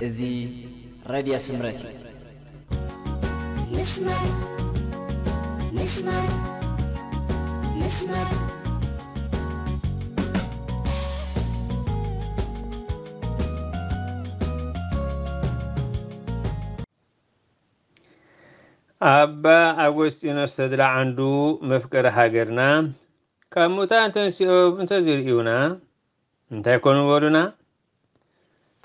እዚ ሬድዮ ስምረት እዩ። ምስማር ምስማር ምስማር ኣባ ኣጎስጢኖስ ተድላ ዓንዱ መፍቀሪ ሃገርና ካብ ሙታን ተንሲኦም እንተዝርእዩና እንታይ ኮኑ በሉና?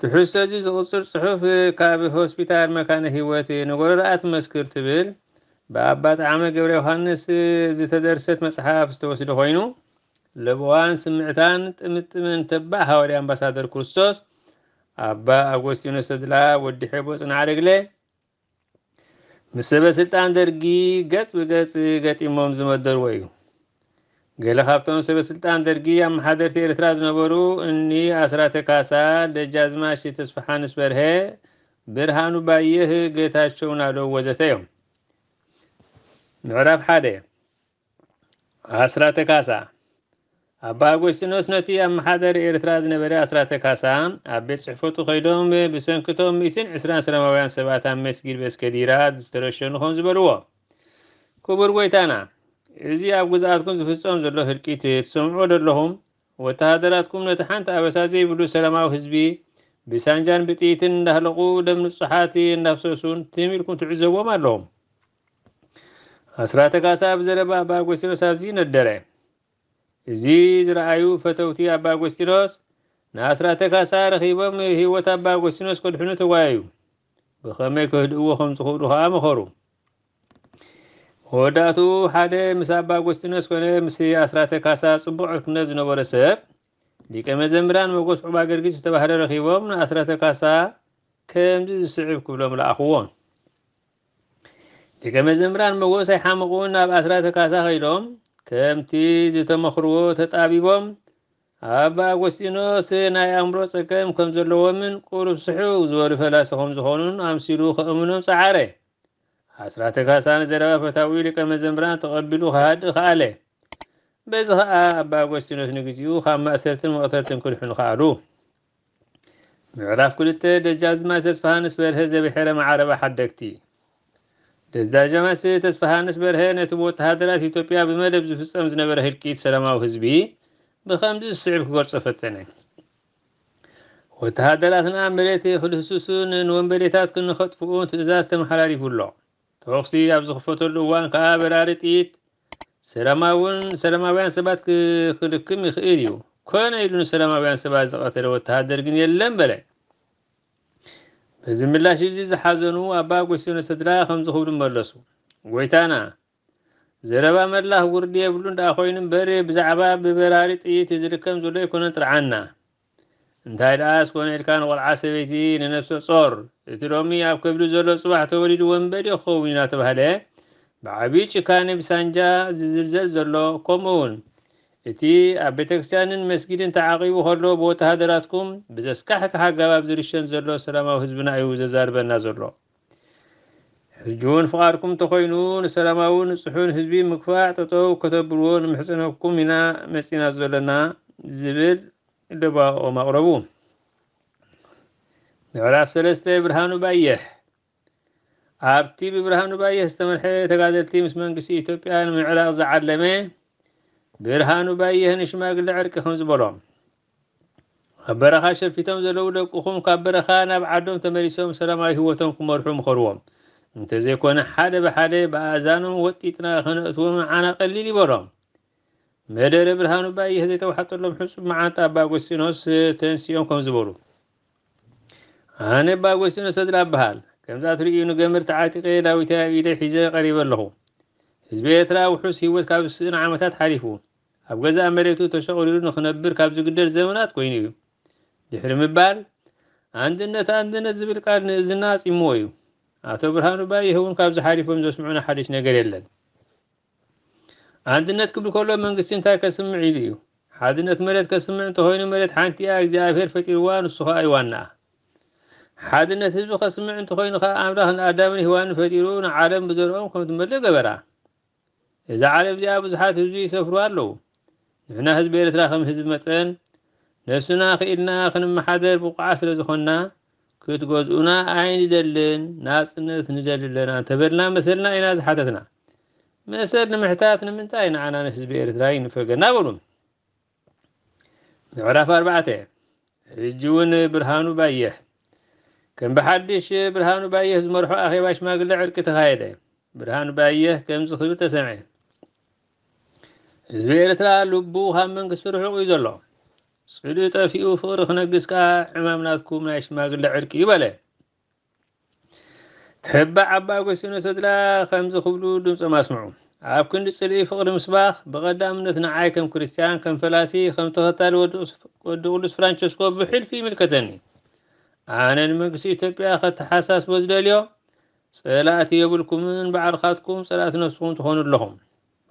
ትሕዝቶ እዚ ዝቕጽል ጽሑፍ ካብ ሆስፒታል መካነ ህይወት ንጎረርኣ ትመስክር ትብል ብኣባ ጠዓመ ገብረ ዮሃንስ ዝተደርሰት መጽሓፍ ዝተወስደ ኮይኑ ለበዋን ስምዕታን ጥምጥምን ተባዕ ሃዋርያ ኣምባሳደር ክርስቶስ ኣባ ኣጎስጢኖስ ተድላ ወዲ ሔቦ ጽንዓደግለ ምስ ሰበ ስልጣን ደርጊ ገጽ ብገጽ ገጢሞም ዝመደርዎ እዩ። ገለ ካብቶም ሰበ ስልጣን ደርጊ ኣመሓደርቲ ኤርትራ ዝነበሩ እኒ ኣስራተ ካሳ፣ ደጃዝማች ተስፋሓንስ በርሀ፣ ብርሃኑ ባየህ፣ ጌታቸው ናደው ወዘተ እዮም። ምዕራፍ ሓደ ኣስራተ ካሳ ኣባ ኣጎስጢኖስ ነቲ ኣመሓዳሪ ኤርትራ ዝነበረ ኣስራተ ካሳ ኣብ ቤት ጽሕፈቱ ከይዶም ብሰንክቶም ሚእትን ዕስራን ሰላማውያን ሰባት ኣብ መስጊድ በስከዲራ ዝተረሸኑ ከም ዝበልዎ ክቡር ጎይታና እዚ ኣብ ግዝኣትኩም ዝፍጸም ዘሎ ህልቂት ትሰምዕዎ ደለኹም ወተሃደራትኩም ነቲ ሓንቲ ኣበሳ ዘይብሉ ሰላማዊ ህዝቢ ብሳንጃን ብጥይትን እንዳህለቑ ደም ንጹሓት እንዳፍሰሱን ትም ኢልኩም ትዕዘብዎም ኣለኹም ኣስራተ ካሳ ብዘረባ ኣባ ኣጎስጢኖስ ኣዝዩ ነደረ። እዚ ዝረኣዩ ፈተውቲ ኣባ ኣጎስጢኖስ ንኣስራተ ካሳ ረኺቦም ህይወት ኣባ ኣጎስጢኖስ ከድሕኑ ተጓየዩ። ብኸመይ ከህድእዎ ከም ዝኽእሉ ኸዓ መኸሩ። መወዳእትኡ ሓደ ምስ ኣባ ኣጎስጢኖስ ኮነ ምስ ኣስራተ ካሳ ጽቡቕ ዕርክነት ዝነበሮ ሰብ ሊቀ መዘምራን መጎስ ዑባ ገርጊስ ዝተባህለ ረኺቦም ንኣስራተ ካሳ ከምዚ ዝስዕብ ክብሎም ለኣኽዎ። ደቀ መዘምራን መጎስ ኣይሓመቑን ናብ ኣስራተ ካሳ ኸይዶም ከምቲ ዝተመኽርዎ ተጣቢቦም ኣባ ኣጎስጢኖስ ናይ ኣእምሮ ጸገም ከም ዘለዎምን ቁሩብ ስሕው ዝበሉ ፈላሲ ከም ዝኾኑን ኣምሲሉ ከእምኖም ጸዓረ። ኣስራተ ካሳ ንዘረባ ፈታዊ ሊቀ መዘምራን ተቐቢሉ ክሃድእ ከኣለ። በዚ ኸኣ ኣባ ኣጎስጢኖስ ንግዚኡ ካብ ማእሰርትን መቕተልትን ክድሕኑ ከኣሉ። ምዕራፍ ክልተ ደጃዝማች ተስፋሃንስ በርሀ ዘብሔረ መዓረባ ሓደግቲ። ደጃዝማች ተስፋሃንስ በርሀ ነቲ ብወተሃደራት ኢትዮጵያ ብመደብ ዝፍጸም ዝነበረ ህልቂት ሰላማዊ ህዝቢ ብኸምዚ ዝስዕብ ክገልጾ ፈተነ። ወተሃደራትና መሬት ክልህስሱን ንወንበዴታት ክንኸጥፍኡን ትእዛዝ ተመሓላሊፉ ኣሎ። ተኹሲ ኣብ ዝኽፈተሉ እዋን ከኣ በራሪ ጥይት ሰላማውን ሰላማውያን ሰባት ክልክም ይኽእል እዩ። ኮነ ኢሉ ንሰላማውያን ሰባት ዝቐተለ ወተሃደር ግን የለን በለ። በዚ ምላሽ እዚ ዝሓዘኑ ኣባ ኣጎስጢኖስ ተድላ ከምዚ ክብሉ መለሱ። ጎይታና፣ ዘረባ መላኽ ውርዲ የብሉን ደኣ ኮይኑ እምበር ብዛዕባ ብበራሪ ጥይት ዝልከም ዘሎ ኣይኮነን ጥርዓንና። እንታይ ደኣ እስኮነ ኢልካ ንቆልዓ ሰበይቲ ንነፍሰ ጾር እቲ ሎሚ ኣብ ከብዲ ዘሎ ጽባሕ ተወሊዱ ወንበዴ ክኸውን እዩ እናተባህለ ብዓብዪ ጭካኔ ብሳንጃ ዝዝልዘል ዘሎ ከምኡ እውን እቲ ኣብ ቤተክርስትያንን መስጊድን ተዓቒቡ ከሎ ብወተሃደራትኩም ብዘስካሕክሕ ኣገባብ ዝርሸን ዘሎ ሰላማዊ ህዝብና እዩ ዘዛርበና ዘሎ። ሕጂ እውን ፍቓድኩም እንተኾይኑ ንሰላማዊ ንጹሑን ህዝቢ ምክፋእ ጠጠው ከተብልዎ ንምሕጽነኩም ኢና መጺና ዘለና ዝብል ደባኦም ኣቕረቡ። ምዕራፍ ሰለስተ ብርሃኑ ባየህ ኣብቲ ብብርሃኑ ባየህ ዝተመርሐ ተጋደልቲ ምስ መንግስቲ ኢትዮጵያ ንምዕራቕ ዝዓለመ ብርሃኑ ባየህ ንሽማግለ ዕርቂ ከም ዝበሎም ኣብ በረኻ ሸፊቶም ዘለዉ ደቅኹም ካብ በረኻ ናብ ዓዶም ተመሊሶም ሰላማዊ ህይወቶም ክመርሑ ምኸርዎም። እንተዘይኮነ ሓደ ብሓደ ብኣእዛኖም ወጢጥና ከነእትዎም ንዓና ቀሊል ይበሎም። መደረ ብርሃኑ ባየህ ዘይተዋሕጠሎም ሕጹብ መዓንጣ ኣባ ኣጎስጢኖስ ተንሲኦም ከም ዝበሉ ኣነ ኣባ ኣጎስጢኖስ ተድላ እበሃል። ከምዛ ትርእዩ ንገመድ ተዓጢቐ ዳዊተይ ኣብ ኢደይ ሒዘ ቀሪበ ኣለኹ። ህዝቢ ኤርትራ ውሑስ ህይወት ካብ ዝስእን ዓመታት ሓሊፉ ኣብ ገዛእ መሬቱ ተሸቑሪሩ ንኽነብር ካብ ዝግደድ ዘመናት ኮይኑ እዩ። ድሕሪ ምባል ኣንድነት ኣንድነት ዝብል ቃል ንእዝና ኣጺምዎ እዩ። ኣቶ ብርሃኑ ባየህ እውን ካብዚ ሓሊፎም ዘስምዑና ሓድሽ ነገር የለን። ኣንድነት ክብል ከሎ መንግስቲ እንታይ ከስምዕ ኢሉ እዩ? ሓድነት መሬት ከስምዕ እንተኾይኑ መሬት ሓንቲ እያ እግዚኣብሔር ፈጢርዋ ንሱ ኸኣ እዩ ዋናኣ። ሓድነት ህዝቢ ከስምዕ እንተኾይኑ ኸኣ ኣምላኽ ንኣዳምን ሄዋንን ፈጢሩ ንዓለም ብዘርኦም ከም ትመልእ ገበራ። እዛ ዓለም እዚኣ ብዙሓት ህዝቢ ይሰፍሩ ኣለዉ። ንሕና ህዝቢ ኤርትራ ከም ህዝቢ መጠን ነብስና ክኢልና ክንመሓደር ብቑዓት ስለ ዝኾንና ክትገዝኡና ኣይንደልን፣ ናጽነት ንደሊ ኣለና እንተበልና መሰልና ኢና ዝሓተትና። መሰል ንምሕታት ንምንታይ ንዓና ንህዝቢ ኤርትራ ይንፈገና በሉ። ምዕራፍ ኣርባዕተ። ሕጂ እውን ብርሃኑ ባየህ። ከም ብሓድሽ ብርሃኑ ባየህ ዝመርሖ ኣኼባ ሽማግለ ዕርቂ ተኻየደ። ብርሃኑ ባየህ ከምዚ ክብል ተሰምዐ። ህዝቢ ኤርትራ ልቡ ካብ መንግስቲ ርሑቕ እዩ ዘሎ። ጽልኢ ጠፊኡ ፍቕሪ ክነግስ ከኣ ዕማም ናትኩም ናይ ሽማግለ ዕርቂ እዩ በለ። ተባዕ ኣባ ኣጎስቲኖስ ተድላ ከምዚ ክብሉ ድምጾም ኣስምዑ። ኣብ ክንዲ ጽልኢ ፍቕሪ ምስባኽ፣ ብቐዳምነት ንዓይ ከም ክርስትያን፣ ከም ፈላሲ፣ ከም ተኸታሊ ወዲ ቅዱስ ፍራንቸስኮ ብሕልፊ ይምልከተኒ። ኣነ ንመንግስቲ ኢትዮጵያ ከተሓሳስቦ ዝደልዮ፣ ጸላእቲ የብልኩምን ባዕልኻትኩም ጸላእቲ ነፍስኹም ትኾኑ ኣለኹም።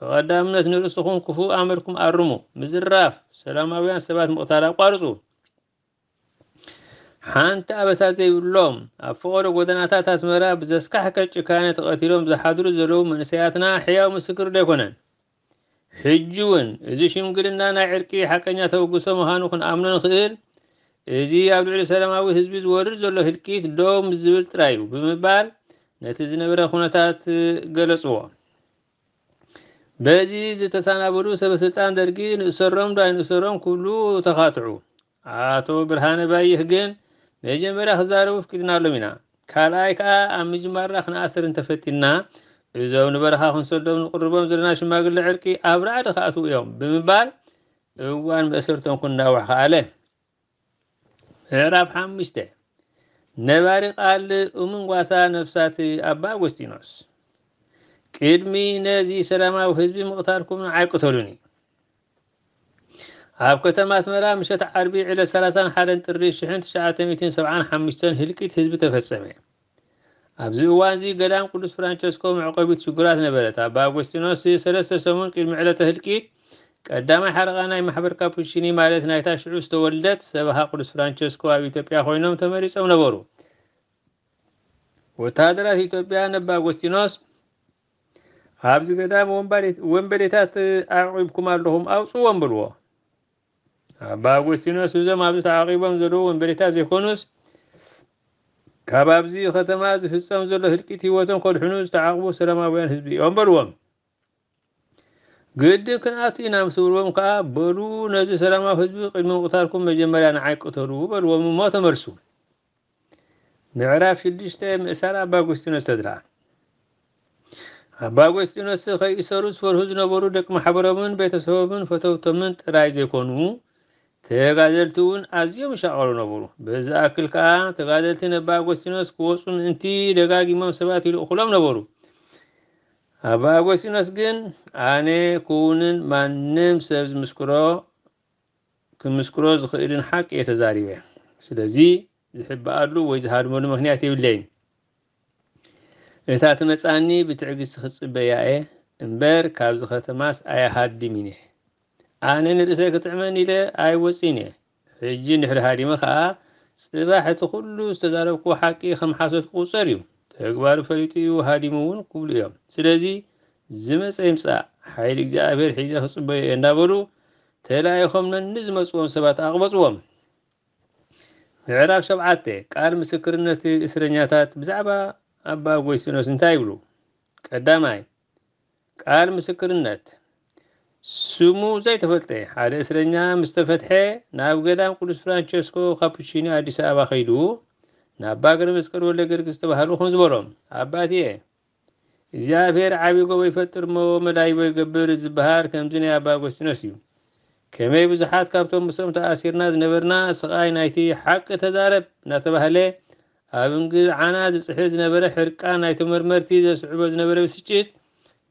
ብቐዳምነት ንርእስኹም ክፉእ ኣመልኩም ኣርሙ። ምዝራፍ፣ ሰላማውያን ሰባት ምቕታል ኣቋርጹ። ሓንቲ ኣበሳ ዘይብሎም ኣብ ፈቐዶ ጎደናታት ኣስመራ ብዘስካሕክሕ ጭካነ ተቐቲሎም ዝሓድሩ ዘለዉ መንእሰያትና ሕያው ምስክር ዶ ኣይኮነን? ሕጂ እውን እዚ ሽምግልና ናይ ዕርቂ ሓቀኛ ተበግሶ ምዃኑ ክንኣምኖ ንኽእል፣ እዚ ኣብ ልዕሊ ሰላማዊ ህዝቢ ዝወርድ ዘሎ ህልቂት ደው ምስ ዝብል ጥራይ እዩ ብምባል ነቲ ዝነበረ ኩነታት ገለጽዎ። በዚ ዝተሰናበዱ ሰበስልጣን ደርጊ ንእሰሮም ዶ ኣይንእሰሮም ክብሉ ተኻትዑ። ኣቶ ብርሃነ ባይህ ግን መጀመርያ ክዛረቡ ፍቂድናሎም ኢና፣ ካልኣይ ከኣ ኣብ ምጅማርና ክንኣስር እንተፈቲንና እዞም ንበረኻ ክንሰዶም ንቕርቦም ዘለና ሽማግለ ዕርቂ ኣብ ራዕዲ ክኣትዉ እዮም ብምባል እዋን መእሰርቶም ክናዋሕ ከኣለ። ምዕራፍ ሓሙሽተ። ነባሪ ቃል እሙን ጓሳ ነፍሳት ኣባ ኣጎስጢኖስ። ቅድሚ ነዚ ሰላማዊ ህዝቢ ምቕታልኩም ንዓይ ቅተሉኒ። ኣብ ከተማ ኣስመራ ምሸት ዓርቢ ዕለት ሰላሳን ሓደን ጥሪ ሽሕን ትሽዓተ ሚእትን ሰብዓን ሓሙሽተን ህልቂት ህዝቢ ተፈጸመ። ኣብዚ እዋንዚ ገዳም ቅዱስ ፍራንቸስኮ መዕቆቢት ሽጉራት ነበረት። ኣባ ኣጎስጢኖስ ሰለስተ ሰሙን ቅድሚ ዕለተ ህልቂት ቀዳማይ ሓለቓ ናይ ማሕበር ካፑቺኒ ማለት ናይታ ሽዑ ዝተወልደት ሰበኻ ቅዱስ ፍራንቸስኮ ኣብ ኢትዮጵያ ኮይኖም ተመሪጾም ነበሩ። ወተሃደራት ኢትዮጵያ ነባ ኣጎስጢኖስ ኣብዚ ገዳም ወንበዴታት ኣዕቂብኩም ኣለኹም ኣውፅዎም በልዎ። ኣባ ኣጎስጢኖስ እዞም ኣብዚ ተዓቂቦም ዘለዉ ወንበዴታት ዘይኮኑስ ካብ ኣብዚ ከተማ ዝፍጸም ዘሎ ህልቂት ህይወቶም ከድሕኑ ዝተዓቕቡ ሰላማውያን ህዝቢ እዮም በልዎም። ግድን ክንኣቱ ኢና ምስ በልዎም ከኣ በሉ ነዚ ሰላማዊ ህዝቢ ቅድሚ ምቕታልኩም መጀመርያ ንዓይ ቅተሉ በልዎም እሞ ተመልሱ። ምዕራፍ ሽዱሽተ። ምእሳር ኣባ ኣጎስጢኖስ ተድላ። ኣባ ኣጎስጢኖስ ከይእሰሩ ዝፈርሁ ዝነበሩ ደቂ ማሕበሮምን ቤተሰቦምን ፈተውቶምን ጥራይ ዘይኮኑ ተጋደልቲ እውን ኣዝዮም ይሻቐሉ ነበሩ። በዚ ኣክል ከኣ ተጋደልቲ ነባ ኣጎስጢኖስ ክወፁ ምእንቲ ደጋጊሞም ሰባት ይልእኹሎም ነበሩ። ኣባ ኣጎስጢኖስ ግን ኣነ ክውንን ማንም ሰብ ዝምስክሮ ክምስክሮ ዝኽእልን ሓቂ እየ ተዛሪበ። ስለዚ ዝሕበኣሉ ወይ ዝሃድመሉ ምኽንያት የብለይን። እታ ትመጻኒ ብትዕግስቲ ክጽበያ እየ እምበር ካብዚ ከተማስ ኣይሃድምን እየ። ኣነ ንርእሰይ ክጥዕመኒ ኢለ ኣይወጽእን እየ። ሕጂ እንድሕሪ ሃዲመ ኸኣ ጽባሕ እቲ ኩሉ ዝተዛረብክዎ ሓቂ ከም ሓሶት ክቑጸር እዩ። ተግባሩ ፈሊጡ እዩ ሃዲሙ እውን ክብሉ እዮም። ስለዚ ዝመጸ ይምጻእ፣ ሓይሊ እግዚኣብሔር ሒዘ ክጽበዮ እየ እንዳበሉ ተላኢኾም ነንዝመጽዎም ሰባት ኣቕበጽዎም። ምዕራፍ ሸብዓተ። ቃል ምስክርነት እስረኛታት ብዛዕባ ኣባ ኣጎስጢኖስ እንታይ ይብሉ? ቀዳማይ፣ ቃል ምስክርነት። ስሙ ዘይተፈልጠ ሓደ እስረኛ ምስ ተፈትሐ ናብ ገዳም ቅዱስ ፍራንቸስኮ ካፑቺኒ ኣዲስ ኣበባ ከይዱ ናብ ኣባ ገብረ መስቀል ወልደ ጊዮርጊስ ዝተባህሉ ከም ዝበሎም፣ ኣባትየ እግዚኣብሔር ዓቢ ጎቦ ይፈጥር እሞ መዳይቦ ይገብር ዝበሃል ከምዚ ናይ ኣባ ኣጎስጢኖስ እዩ። ከመይ ብዙሓት ካብቶም ምስኦም ተኣሲርና ዝነበርና ስቓይ ናይቲ ሓቂ ተዛረብ እናተባህለ ኣብ እንግልዓና ዝጽሕል ዝነበረ ሕርቃን ናይ ተመርመርቲ ዘስዕቦ ዝነበረ ብስጭት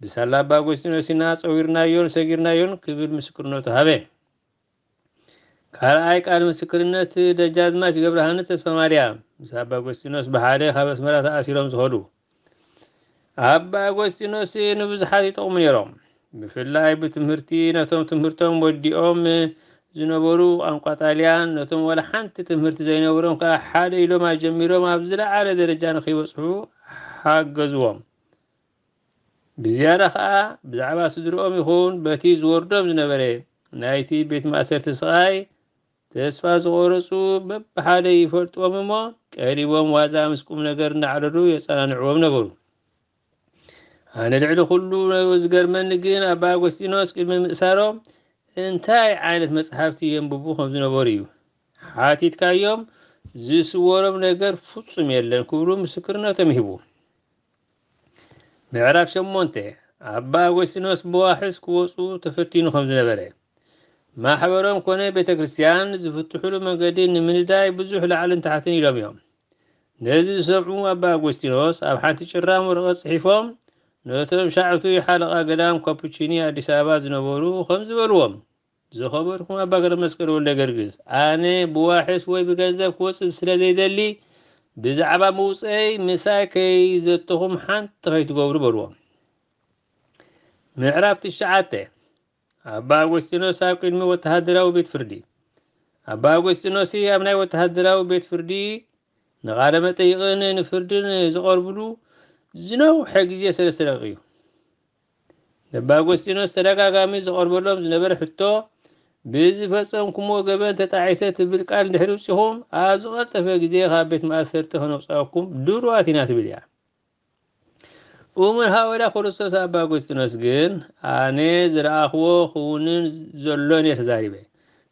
ብሳላ ኣባ ኣጎስጢኖስ ኢና ጸዊርናዮን ሰጊርናዮን ክብል ምስክርነቱ ሃበ። ካልኣይ ቃል ምስክርነት ደጃዝማች ገብረሃንስ ተስፋ ማርያም ምስ ኣባ ኣጎስጢኖስ ብሓደ ካብ ኣስመራ ተኣሲሮም ዝኸዱ። ኣባ ኣጎስጢኖስ ንብዙሓት ይጠቕሙ ነይሮም። ብፍላይ ብትምህርቲ ነቶም ትምህርቶም ወዲኦም ዝነበሩ ቋንቋ ጣልያን ነቶም ዋላ ሓንቲ ትምህርቲ ዘይነበሮም ከኣ ሓደ ኢሎም ኣጀሚሮም ኣብ ዝለዓለ ደረጃ ንኸይበጽሑ ሓገዝዎም። ብዝያዳ ኸኣ ብዛዕባ ስድርኦም ይኹን በቲ ዝወርዶም ዝነበረ ናይቲ ቤት ማእሰርቲ ስቓይ ተስፋ ዝቆረጹ በብሓደ ይፈልጥዎም እሞ፣ ቀሪቦም ዋዛ ምስ ቁም ነገር እናዕለሉ የጸናንዕዎም ነበሩ። ኣነ ልዕሊ ኩሉ ዝገርመኒ ግን ኣባ ኣጎስጢኖስ ቅድሚ ምእሳሮም እንታይ ዓይነት መጽሓፍቲ የንብቡ ከም ዝነበሩ እዩ። ሓቲትካዮም ዝስወሮም ነገር ፍጹም የለን ክብሉ ምስክርነቶም ይህቡ። ምዕራፍ ሸሞንተ፣ ኣባ ኣጎስጢኖስ ብዋሕስ ክወጹ ተፈቲኑ ከም ዝነበረ፣ ማሕበሮም ኮነ ቤተ ክርስቲያን ዝፍትሕሉ መንገዲ ንምንዳይ ብዙሕ ላዕልን ታሕትን ኢሎም እዮም። ነዚ ዝሰምዑ ኣባ ኣጎስጢኖስ ኣብ ሓንቲ ጭራም ወረቐት ጽሒፎም ነቶም ሻዕቱ ሓለቓ ገዳም ካፑቺኒ ኣዲስ ኣበባ ዝነበሩ ከም ዝበልዎም፣ ዝኸበርኩም ኣባ ገብረ መስቀል ወልደ ገርግስ፣ ኣነ ብዋሕስ ወይ ብገንዘብ ክወጽእ ስለ ዘይደሊ ብዛዕባ ምውፀይ ምሳይ ከይዘተኹም ሓንቲ ከይትገብሩ በልዎም። ምዕራፍ ትሽዓተ፣ ኣባ ኣጎስጢኖስ ኣብ ቅድሚ ወተሃደራዊ ቤት ፍርዲ። ኣባ ኣጎስጢኖስ ኣብ ናይ ወተሃደራዊ ቤት ፍርዲ ንቓለ መጠይቕን ንፍርድን ዝቐርብሉ ዝነውሐ ግዜ ሰለስተ ደቂቕ እዩ። ነባ ኣጎስጢኖስ ተደጋጋሚ ዝቐርበሎም ዝነበረ ሕቶ፣ ብዝፈጸምኩምዎ ገበን ተጣዒሰ ትብል ቃል እንድሕር ውጺኹም፣ ኣብ ዝቐልጠፈ ግዜ ካብ ቤት ማእሰርቲ ከነውጽኣኩም ድሉዋት ኢና ትብል እያ። እሙን ሃዋርያ ክርስቶስ ኣባ ኣጎስጢኖስ ግን፣ ኣነ ዝረኣኽዎ ክውንን ዘሎን እየ ተዛሪበ።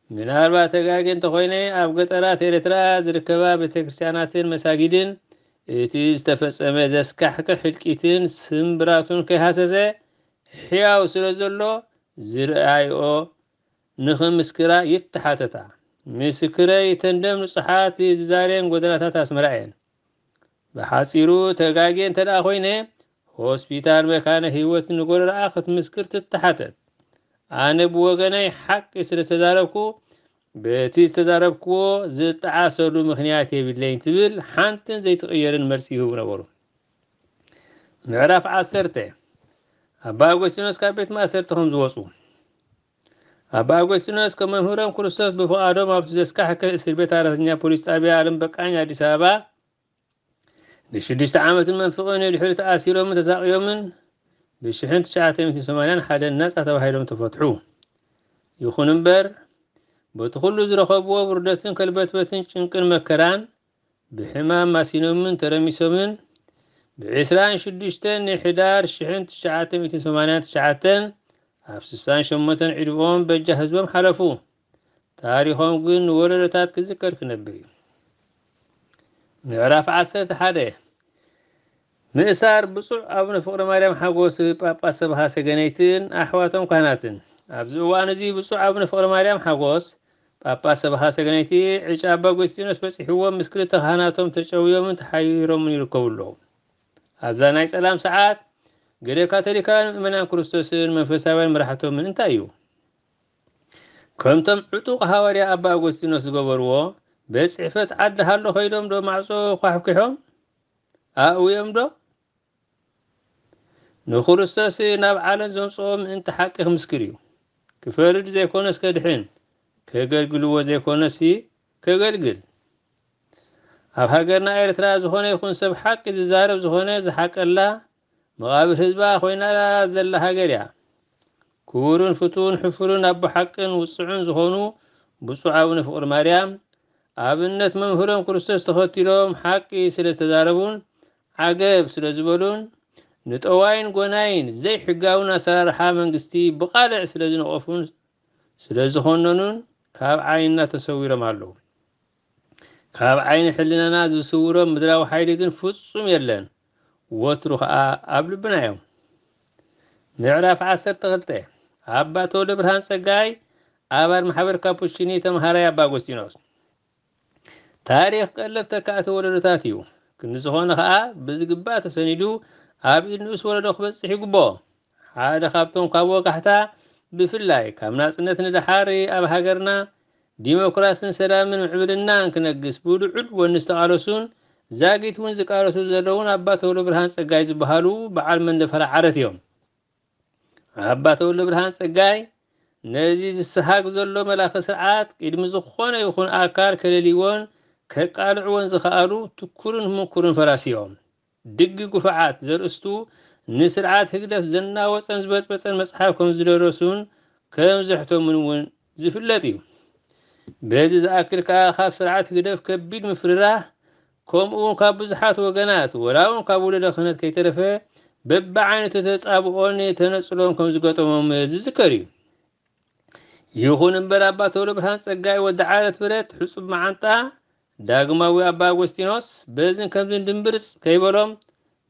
ምናልባት ተጋጌ እንተኾይነ፣ ኣብ ገጠራት ኤርትራ ዝርከባ ቤተክርስትያናትን መሳጊድን እቲ ዝተፈጸመ ዘስካሕክሕ ህልቂትን ስምብራቱን ከይሃሰሰ ሕያው ስለ ዘሎ ዝረኣይኦ ንኽምስክራ ይተሓተታ። ምስክረይ እተን ደም ንጹሓት ዝዛርየን ጎደናታት ኣስመራ እየን። ብሓጺሩ ተጋግየ እንተ ደኣ ኮይነ ሆስፒታል መካነ ህይወት ንጎረርኣ ክትምስክር ትተሓተት። ኣነ ብወገነይ ሓቂ ስለ ዝተዛረብኩ በቲ ዝተዛረብክዎ ዝጠዓሰሉ ምኽንያት የብለይን ትብል ሓንትን ዘይትቕየርን መልሲ ይህቡ ነበሩ። ምዕራፍ ዓሰርተ፣ ኣባ ኣጎስጢኖስ ካብ ቤት ማእሰርቲ ከም ዝወፁ። ኣባ ኣጎስጢኖስ ከም መምህሮም ክርስቶስ ብፍቓዶም ኣብቲ ዘስካሕክሕ እስር ቤት ኣራተኛ ፖሊስ ጣብያ ኣለም በቃኝ ኣዲስ ኣበባ ንሽዱሽተ ዓመትን መንፍቕን ንድሕሪ ተኣሲሮምን ተሳቕዮምን ብሽሕን ትሽዓተ ሚእትን ሰማንያን ሓደን ናጻ ተባሂሎም ተፈትሑ። ይኹን እምበር በቲ ኩሉ ዝረኸብዎ ውርደትን ከልበትበትን ጭንቅን መከራን ብሕማም ማሲኖምን ተረሚሶምን ብዕስራን ሽዱሽተን ናይ ሕዳር ሽሕን ትሽዓተ ሚእትን ሰማንያን ትሽዓተን ኣብ ስሳን ሸሞንተን ዕድመኦም በጃ ህዝቦም ሓለፉ። ታሪኾም ግን ንወለዶታት ክዝከር ክነብር እዩ። ምዕራፍ ዓሰርተ ሓደ፣ ምእሳር ብፁዕ ኣቡነ ፍቕረ ማርያም ሓጎስ ጳጳስ ሰብኻ ሰገነይትን ኣሕዋቶም ካህናትን። ኣብዚ እዋን እዚ ብፁዕ ኣቡነ ፍቕረ ማርያም ሓጎስ ጳጳስ ሰብኻ ሰገነይቲ ዕጫ ኣባ ኣጎስጢኖስ በጺሕዎም ምስ ክልተ ካህናቶም ተጨውዮምን ተሓይሮምን ይርከቡ ኣለዉ። ኣብዛ ናይ ጸላም ሰዓት ገለ ካቶሊካውያን ምእመናን ክርስቶስን መንፈሳውያን መራሕቶምን እንታይ እዩ? ከምቶም ዕጡቕ ሃዋርያ ኣባ ኣጎስጢኖስ ዝገበርዎ ቤት ጽሕፈት ዓዲ ሃሎ ከይዶም ዶ ማዕጾ ኳሕኲሖም ኣእውዮም ዶ? ንክርስቶስ ናብ ዓለም ዘምጽኦ ምእንቲ ሓቂ ክምስክር እዩ። ክፈርድ ዘይኮነስ ከድሕን፣ ከገልግልዎ ዘይኮነስ ከገልግል። ኣብ ሃገርና ኤርትራ ዝኾነ ይኹን ሰብ ሓቂ ዝዛረብ ዝኾነ ዝሓቀላ መቓብር ህዝባ ኮይና ዘላ ሃገር እያ። ክቡርን ፍቱውን ሕፉርን ኣቦ ሓቅን ውጽዑን ዝኾኑ ብፁዕ ኣቡነ ፍቕሪ ማርያም ኣብነት መምህሮም ክርስቶስ ተኸቲሎም ሓቂ ስለ ዝተዛረቡን ዓገብ ስለ ዝበሉን ንጠዋይን ጎናይን ዘይሕጋውን ኣሰራርሓ መንግስቲ ብቓልዕ ስለ ዝነቐፉን ስለ ዝኾነኑን ካብ ዓይንና ተሰዊሮም ኣለዉ። ካብ ዓይኒ ሕልናና ዝስውሮም ምድራዊ ሓይሊ ግን ፍጹም የለን። ወትሩ ኸኣ ኣብ ልብና እዮም። ምዕራፍ ዓሰርተ ክልተ፣ ኣባ ተወልደ ብርሃን ጸጋይ ኣባል ማሕበር ካፑቺኒ ተምሃራይ ኣባ ኣጎስጢኖስ። ታሪኽ ቀለብ ተካእቲ ወለዶታት እዩ። ክንዲ ዝኾነ ኸኣ ብዝግባእ ተሰኒዱ ኣብ ኢድ ንኡስ ወለዶ ክበጽሕ ይግብኦ። ሓደ ካብቶም ካብ ወጋሕታ ብፍላይ ካብ ናጽነት ንደሓር ኣብ ሃገርና ዲሞክራስን ሰላምን ምዕብልናን ክነግስ ብልዑል ወኒ ዝተቓለሱን ዛጊት እውን ዝቃለሱ ዘለውን ኣባ ተወልደ ብርሃን ጸጋይ ዝበሃሉ በዓል መንደፈራ ዓረት እዮም። ኣባ ተወልደ ብርሃን ጸጋይ ነዚ ዝሰሃግ ዘሎ መላኺ ስርዓት ቅድሚ ዝኾነ ይኹን ኣካል ከለልይዎን ከቃልዕዎን ዝኸኣሉ ትኩርን ምኩርን ፈራሲ እዮም። ድጊ ጉፋዓት ዘርእስቱ ንስርዓት ህግደፍ ዘናወጸን ዝበጽበጸን መጽሓፍ ከም ዝደረሱን ከም ዘሕተሙን እውን ዝፍለጥ እዩ። በዚ ዝኣክል ከኣ ካብ ስርዓት ህግደፍ ከቢድ ምፍርራህ፣ ከምኡ እውን ካብ ብዙሓት ወገናት፣ ወላ እውን ካብ ወለደ ክህነት ከይተረፈ፣ በብዓይነቱ ተጻብኦን ተነጽሎን ከም ዝገጠሞም ዝዝከር እዩ። ይኹን እምበር፣ ኣባ ተወልደ ብርሃን ጸጋይ ወዲ ዓረት ብረት፣ ሕጹብ መዓንጣ፣ ዳግማዊ ኣባ ኣጎስጢኖስ፣ በዝን ከምዝን ድምብርጽ ከይበሎም፣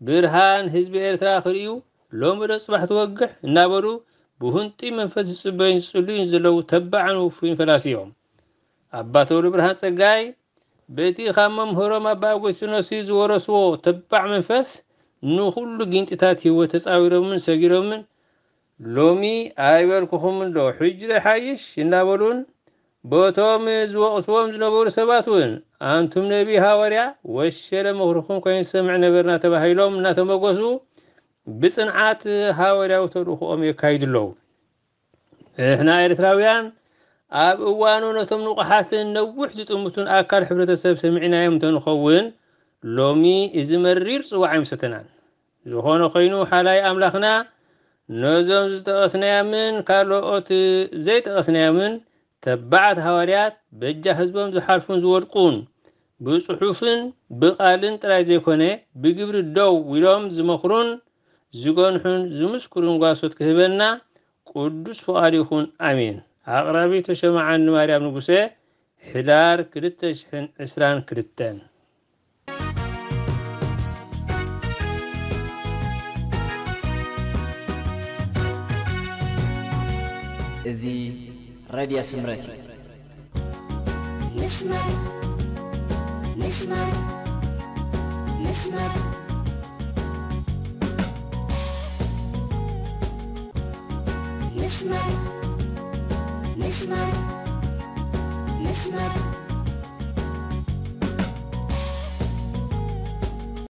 ብርሃን ህዝቢ ኤርትራ ክርእዩ፣ ሎሚ ዶ ጽባሕ ትወግሕ እናበሉ፣ ብሁንጢ መንፈስ ዝጽበዩን ዝጽልዩን ዘለዉ ተባዕን ውፉይን ፈላሲ እዮም። ኣባ ተወልደ ብርሃን ጸጋይ፣ በቲ ካብ መምህሮም ኣባ ኣጎስጢኖስ ዝወረስዎ ተባዕ መንፈስ፣ ንኹሉ ጊንጢታት ህይወት ተጻዊሮምን ሰጊሮምን፣ ሎሚ ኣይበልኩኹምን ዶ፣ ሕጂ ዶ ይሓይሽ እናበሉን፣ በቶም ዝወቕስዎም ዝነበሩ ሰባት እውን፣ ኣንቱም ነቢ ሃዋርያ፣ ወሸለ ምኽርኹም ከይንሰምዕ ነበርና ተባሂሎም እናተመጎሱ፣ ብጽንዓት ሃዋርያዊ ተልእኾኦም የካይዱ ኣለዉ። ንሕና ኤርትራውያን፣ ኣብ እዋኑ ነቶም ንቑሓትን ነዊሕ ዝጥምቱን ኣካል ሕብረተሰብ ሰሚዕናዮም እንተንኸውን፣ ሎሚ እዚ መሪር ጽዋዕ ኣይምሰተናን። ዝኾነ ኮይኑ፣ ሓላይ ኣምላኽና ነዞም ዝጠቐስናዮምን ካልኦት ዘይጠቐስናዮምን ተባዓት ሃዋርያት፣ በጃ ህዝቦም ዝሓልፉን ዝወድቁን፣ ብጽሑፍን ብቓልን ጥራይ ዘይኮነ፣ ብግብሪ ደው ኢሎም ዝመኽሩን ዝገንሑን ዝምስክሩን ጓሶት ክህበና ቅዱስ ፍቓዱ ይኹን። ኣሜን። ኣቕራቢ ተሸማዓኒ ማርያም ንጉሴ፣ ሕዳር ክልተ ሽሕን ዕስራን ክልተን። እዚ ሬድዮ ስምረት እዩ። ምስማር ምስማር ምስማር ምስማር ምስማር